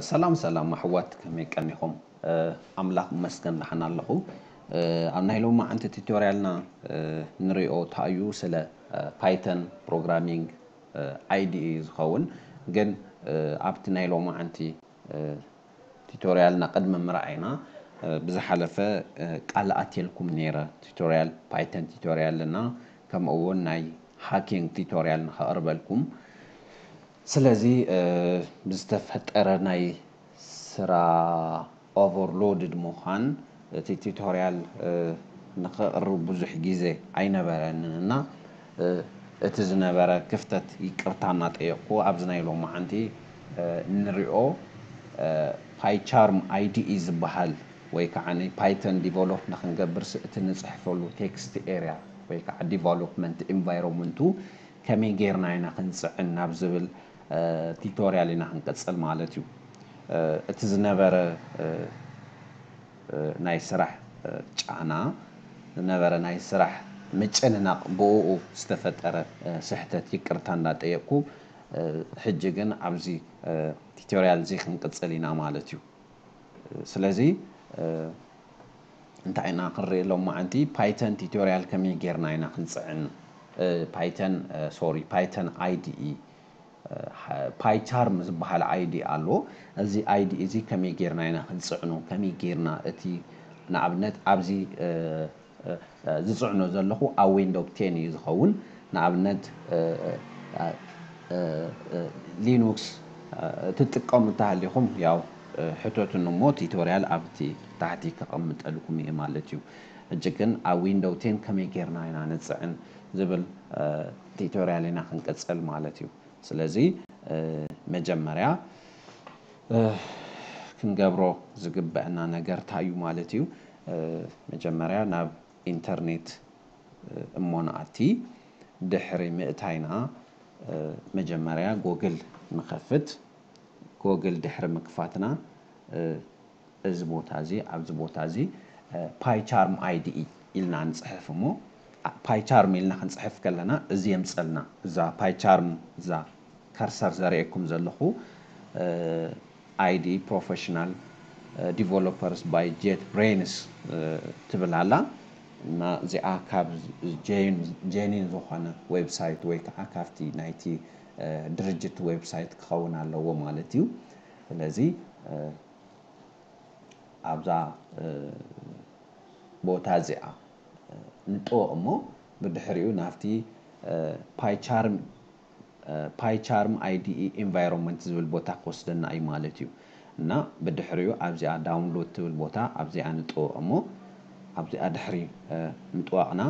ሰላም ሰላም ኣሕዋት፣ ከመይ ቀኒኹም? ኣምላኽ ይመስገን፣ ደሓን ኣለኹ። ኣብ ናይ ሎማዓንቲ ቱቶርያልና ንሪኦ እንታይ እዩ፣ ስለ ፓይተን ፕሮግራሚንግ ኣይዲኢ ዝኸውን። ግን ኣብቲ ናይ ሎማዓንቲ ቱቶርያልና ቅድሚ ምርኣይና፣ ብዝሓለፈ ቃል ኣትየልኩም ነይረ፣ ቱቶርያል ፓይተን ቱቶርያልና፣ ከምኡ እውን ናይ ሃኪንግ ቱቶርያል ንኸቕርበልኩም። ስለዚ ብዝተፈጠረ ናይ ስራ ኦቨርሎድድ ምዃን፣ እቲ ቱቶርያል ንኸቕርብ ብዙሕ ግዜ ኣይነበረንን እና እቲ ዝነበረ ክፍተት ይቅርታ እናጠየቅኩ፣ ኣብዚ ናይ ሎማዓንቲ ንሪኦ ፓይቻርም ኣይዲኢ ዝበሃል ወይ ከዓ ፓይተን ዲቨሎፕ ንክንገብር እቲ ንፅሕፈሉ ቴክስት ኤርያ ወይ ከዓ ዲቨሎፕመንት ኢንቫይሮንመንቱ ከመይ ጌርና ኢና ክንፅዕን ናብ ዝብል ቱቶርያል ኢና ክንቅፅል ማለት እዩ። እቲ ዝነበረ ናይ ስራሕ ጫና፣ ዝነበረ ናይ ስራሕ ምጭንናቕ፣ ብኡ ዝተፈጠረ ስሕተት ይቅርታ እንዳጠየቅኩ፣ ሕጂ ግን ኣብዚ ቱቶርያል እዚ ክንቅፅል ኢና ማለት እዩ። ስለዚ እንታይ ኢና ክንርኢ ሎማዓንቲ? ፓይተን ቱቶርያል ከመይ ጌርና ኢና ክንፅዕን? ፓይተን ሶሪ ፓይተን ኣይዲኢ ፓይቻርም ዝበሃል ኣይዲ ኣሎ። እዚ ኣይዲ እዚ ከመይ ጌርና ኢና ክንፅዕኖ? ከመይ ጌርና እቲ ንኣብነት ኣብዚ ዝፅዕኖ ዘለኹ ኣብ ዊንዶው ቴን እዩ ዝኸውን። ንኣብነት ሊኑክስ ትጥቀሙ እንተሃሊኹም ያው ሕተቱኒ እሞ ቱቶርያል ኣብቲ ታሕቲ ከቐምጠልኩም እየ ማለት እዩ። ሕጂ ግን ኣብ ዊንዶው ቴን ከመይ ጌርና ኢና ንፅዕን ዝብል ቱቶርያል ኢና ክንቅፅል ማለት እዩ። ስለዚ መጀመርያ ክንገብሮ ዝግበአና ነገር እንታይ እዩ ማለት እዩ? መጀመርያ ናብ ኢንተርኔት እሞ ንኣቲ። ድሕሪ ምእታይና መጀመርያ ጎግል ንኸፍት። ጎግል ድሕሪ ምክፋትና እዚ ቦታ እዚ፣ ኣብዚ ቦታ እዚ ፓይቻርም ኣይዲኢ ኢልና ንፅሕፍ እሞ፣ ፓይቻርም ኢልና ክንፅሕፍ ከለና እዚ የምፀልና። እዛ ፓይቻርም፣ እዛ ከርሰር ዘርእየኩም ዘለኹ ኣይዲ ፕሮፌሽናል ዲቨሎፐርስ ባይ ጄት ብሬንስ ትብል ኣላ። እና እዚኣ ካብ ጄኒን ዝኾነ ዌብሳይት ወይ ከዓ ካብቲ ናይቲ ድርጅት ዌብሳይት ክኸውን ኣለዎ ማለት እዩ። ስለዚ ኣብዛ ቦታ እዚኣ ንጥወ እሞ ብድሕሪኡ ናብቲ ፓይቻርም ፓይቻርም ኣይዲኢ ኢንቫይሮንመንት ዝብል ቦታ ክወስደና እዩ ማለት እዩ። እና ብድሕሪኡ ኣብዚኣ ዳውንሎድ ትብል ቦታ ኣብዚኣ ንጥወ እሞ ኣብዚኣ ድሕሪ ምጥዋቕና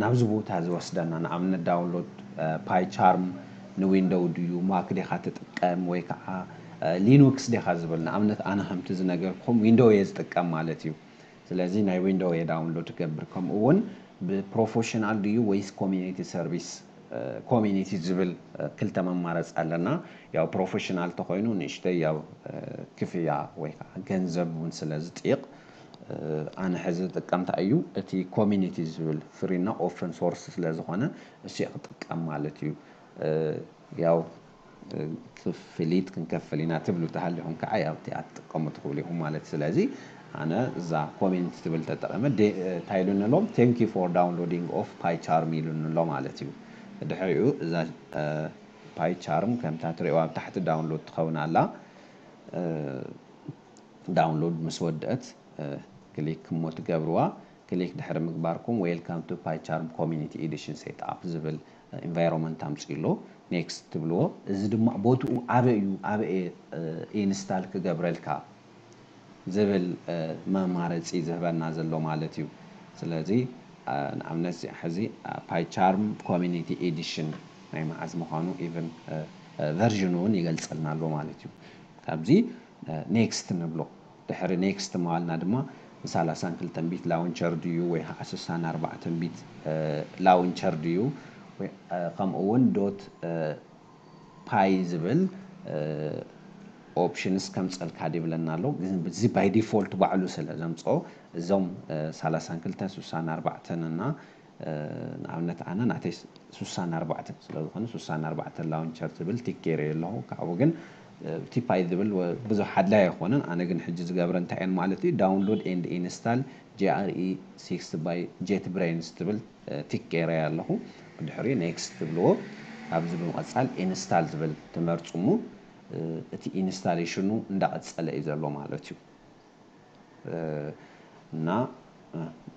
ናብዚ ቦታ ዝወስደና፣ ንኣብነት ዳውንሎድ ፓይቻርም ንዊንዶው ድዩ፣ ማክ ዲኻ ትጥቀም ወይ ከዓ ሊኑክስ ዲኻ ዝብል። ንኣብነት ኣነ ከምቲ ዝነገርኩም ዊንዶው እየ ዝጥቀም ማለት እዩ። ስለዚ ናይ ዊንዶው እየ ዳውንሎድ ገብር። ከምኡ እውን ብፕሮፌሽናል ድዩ ወይስ ኮሚኒቲ ሰርቪስ፣ ኮሚኒቲ ዝብል ክልተ መማረፂ ኣለና። ያው ፕሮፌሽናል ተኮይኑ ንእሽተይ ያው ክፍያ ወይ ከዓ ገንዘብ እውን ስለ ዝጥይቕ፣ ኣነ ሕዚ ዝጥቀም እንታይ እዩ፣ እቲ ኮሚኒቲ ዝብል ፍሪ እና ኦፕን ሶርስ ስለ ዝኾነ እሱ ክጥቀም ማለት እዩ። ያው ክፍሊት ክንከፍል ኢና ትብሉ ተሃሊኹም ከዓ ያው እቲኣ ትጥቀሙ ትኽእሉ ኢኹም ማለት። ስለዚ ኣነ እዛ ኮሜንት ትብል ተጠቐመ እንታይ ኢሉኒ ኣሎ? Thank you for downloading of PyCharm ኢሉኒ ኣሎ ማለት እዩ። ድሕሪኡ እዛ ፓይቻርም ከምታ ትሪእዋ ኣብ ታሕቲ ዳውንሎድ ትኸውን ኣላ። ዳውንሎድ ምስ ወደአት ክሊክ እሞ ትገብርዋ። ክሊክ ድሕሪ ምግባርኩም Welcome to PyCharm Community Edition Setup ዝብል ኢንቫይሮንመንት ኣምፅኡ ኣሎ። ኔክስት ትብልዎ። እዚ ድማ ቦትኡ ኣበይ እዩ፣ ኣበይ ኢንስታል ክገብረልካ ዝብል መማረፂ ዝህበና ዘሎ ማለት እዩ። ስለዚ ንኣብነት እዚ ሕዚ ፓይቻርም ኮሚኒቲ ኤዲሽን ናይ መዓዝ ምዃኑ ኢቨን ቨርዥኑ እውን ይገልፀልና ኣሎ ማለት እዩ። ካብዚ ኔክስት ንብሎ። ድሕሪ ኔክስት ምባልና ድማ ብ ሰላሳን ክልተን ቢት ላውንቸር ድዩ ወይ ከዓ ስሳን ኣርባዕተን ቢት ላውንቸር ድዩ፣ ከምኡ እውን ዶት ፓይ ዝብል ኦፕሽንስ ከምፀልካ ይብለና ኣሎ። ግን እዚ ባይ ዲፎልት ባዕሉ ስለ ዘምፅኦ እዞም ሰላሳን ክልተን ስሳን ኣርባዕተን እና ንኣብነት ኣነ ናተይ ስሳን ኣርባዕተን ስለ ዝኾነ ስሳን ኣርባዕተን ላውንቸር ዝብል ቲክ ገይረ ኣለኹ። ካብኡ ግን እቲ ፓይት ዝብል ብዙሕ ኣድላይ ኣይኮነን። ኣነ ግን ሕጂ ዝገብረ እንታይ እየን ማለት እዩ፣ download and install JRE six by JetBrains ትብል ቲክ ገይረያ ኣለኹ። ብድሕሪ ኔክስት ትብልዎ። ኣብዚ ብምቕጻል ኢንስታል ዝብል ትመርጹ እሞ እቲ ኢንስታሌሽኑ እንዳቐጸለ እዩ ዘሎ ማለት እዩ። እና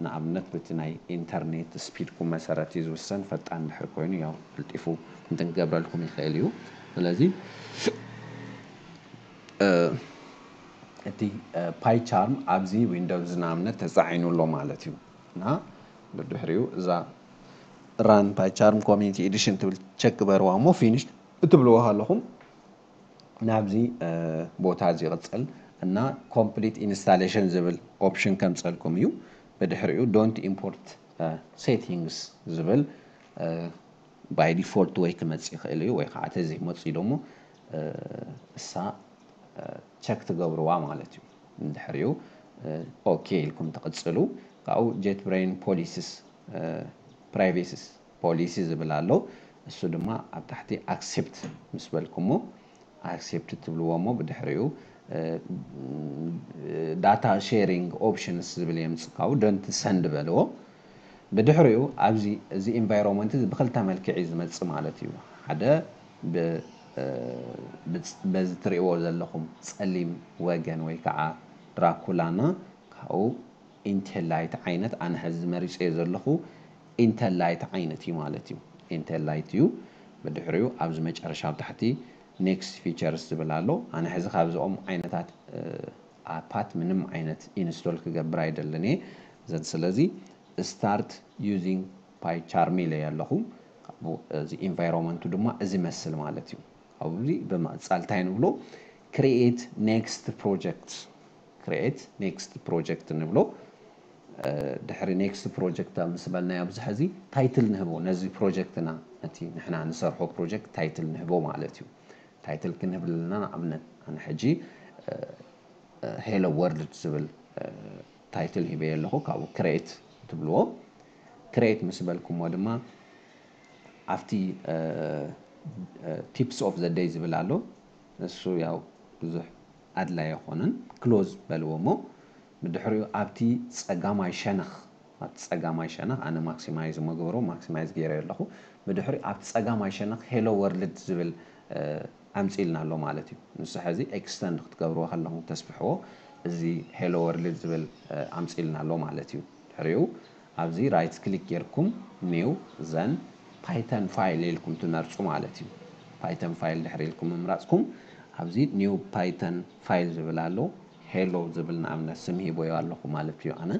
ንኣብነት በቲ ናይ ኢንተርኔት ስፒድኩም መሰረት እዩ ዝውሰን። ፈጣን ድሕሪ ኮይኑ ያው ቀልጢፉ እንትን ክገብረልኩም ይኽእል እዩ። ስለዚ እቲ ፓይቻርም ኣብዚ ዊንዶውስ ንኣብነት ተፃዒኑ ኣሎ ማለት እዩ። እና ብድሕሪኡ እዛ ራን ፓይቻርም ኮሚኒቲ ኤዲሽን ትብል ቸክ ግበርዋ እሞ ፊኒሽ እትብልዎ ከለኹም ናብዚ ቦታ እዚ ይቕፅል እና ኮምፕሊት ኢንስታሌሽን ዝብል ኦፕሽን ከምፀልኩም እዩ። ብድሕሪኡ ዶንት ኢምፖርት ሴቲንግስ ዝብል ባይ ዲፎልት ወይ ክመፅእ ይኽእል እዩ ወይ ከዓ ተዘይመፅእ ደሞ እሳ ቸክ ትገብርዋ ማለት እዩ። እንድሕሪኡ ኦኬ ኢልኩም ትቕፅሉ። ካብኡ ጀት ብሬን ፖሊሲስ ፕራይቬሲስ ፖሊሲ ዝብል ኣሎ። እሱ ድማ ኣብ ታሕቲ ኣክሴፕት ምስ በልኩሞ ኣክሴፕት ትብልዎ እሞ ብድሕሪኡ ዳታ ሼሪንግ ኦፕሽንስ ዝብል የምፅእ። ካብኡ ዶንት ሰንድ በልዎ። ብድሕሪኡ ኣብዚ እዚ ኢንቫይሮንመንት እዚ ብክልተ መልክዕ እዩ ዝመፅእ ማለት እዩ። ሓደ በዚ ትሪእዎ ዘለኹም ፀሊም ወገን ወይ ከዓ ድራኩላና ካብኡ ኢንቴል ላይት ዓይነት ኣነ ሕዚ መሪፀዮ ዘለኹ ኢንቴል ላይት ዓይነት እዩ ማለት እዩ። ኢንቴል ላይት እዩ። ብድሕሪኡ ኣብዚ መጨረሻ ኣብ ታሕቲ ኔክስት ፊቸርስ ዝብል ኣሎ። ኣነ ሕዚ ካብዚኦም ዓይነታት ኣፓት ምንም ዓይነት ኢንስቶል ክገብር ኣይደልን እየ። ዘን ስለዚ ስታርት ዩዚንግ ፓይቻርም ኢለ ኣለኹ። እዚ ኢንቫይሮንመንቱ ድማ እዚ መስል ማለት እዩ። ኣብዚ ብምቕፃል እንታይ ንብሎ? ክሪኤት ኔክስት ፕሮጀክት። ክሪኤት ኔክስት ፕሮጀክት ንብሎ። ድሕሪ ኔክስት ፕሮጀክት ምስ በልናዮ ኣብዚ ሕዚ ታይትል ንህቦ ነዚ ፕሮጀክትና፣ ነቲ ንሕና ንሰርሖ ፕሮጀክት ታይትል ንህቦ ማለት እዩ። ታይትል ክንህብልና ንኣብነት ኣነ ሕጂ ሄሎ ወርልድ ዝብል ታይትል ሂበዮ ኣለኹ። ካብኡ ክሬት ትብልዎ። ክሬት ምስ በልኩሞ ድማ ኣብቲ ቲፕስ ኦፍ ዘ ደይ ዝብል ኣሎ። እሱ ያው ብዙሕ ኣድላይ ኣይኮነን። ክሎዝ በልዎ እሞ ብድሕሪኡ ኣብቲ ጸጋማይ ሸነኽ ኣብቲ ጸጋማይ ሸነኽ ኣነ ማክሲማይዝ መግበሮ ማክሲማይዝ ገይረ ኣለኹ። ብድሕሪ ኣብቲ ጸጋማይ ሸነኽ ሄሎ ወርልድ ዝብል ኣምፂልና ኣሎ ማለት እዩ። ንሱ ሕዚ ኤክስተንድ ክትገብርዎ ከለኹም ተስፍሕዎ እዚ ሄሎ ወርልድ ዝብል ኣምፂልና ኣሎ ማለት እዩ። ድሕሪኡ ኣብዚ ራይት ክሊክ ጌርኩም ኒው ዘን ፓይተን ፋይል ኢልኩም ትመርፁ ማለት እዩ። ፓይተን ፋይል ድሕሪ ኢልኩም ምምራፅኩም ኣብዚ ኒው ፓይተን ፋይል ዝብል ኣሎ። ሄሎ ዝብል ንኣብነት ስም ሂቦዮ ኣለኹ ማለት እዩ ኣነ።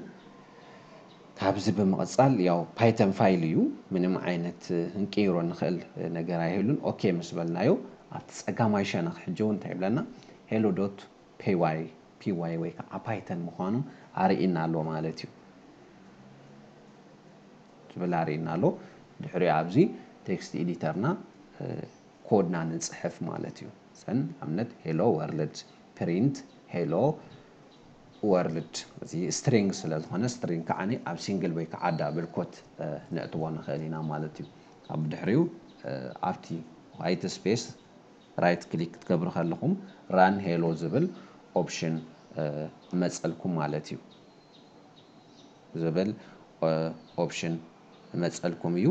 ካብዚ ብምቕፃል ያው ፓይተን ፋይል እዩ። ምንም ዓይነት ክንቅይሮ ንኽእል ነገር ኣይህሉን። ኦኬ ምስ በልናዮ ኣብቲ ጸጋማይ ሸነኽ ሕጂ እውን እንታይ ይብለና? ሄሎ ዶት ፒዋይ ፒዋይ ወይ ከዓ ፓይተን ምዃኑ ኣርእና ኣሎ ማለት እዩ። ዝብል ኣርእና ኣሎ። ድሕሪኡ ኣብዚ ቴክስት ኤዲተርና ኮድና ንፅሕፍ ማለት እዩ። ሰን ኣብነት ሄሎ ወርልድ ፕሪንት ሄሎ ወርልድ እዚ ስትሪንግ ስለ ዝኾነ ስትሪንግ ከዓ ኣብ ሲንግል ወይ ከዓ ዳብል ኮት ነእትዎ ንኽእል ኢና ማለት እዩ። ካብ ድሕሪኡ ኣብቲ ዋይት ስፔስ ራይት ክሊክ ክትገብሩ ከለኹም ራን ሄሎ ዝብል ኦፕሽን መፀልኩም ማለት እዩ። ዝብል ኦፕሽን መፀልኩም እዩ።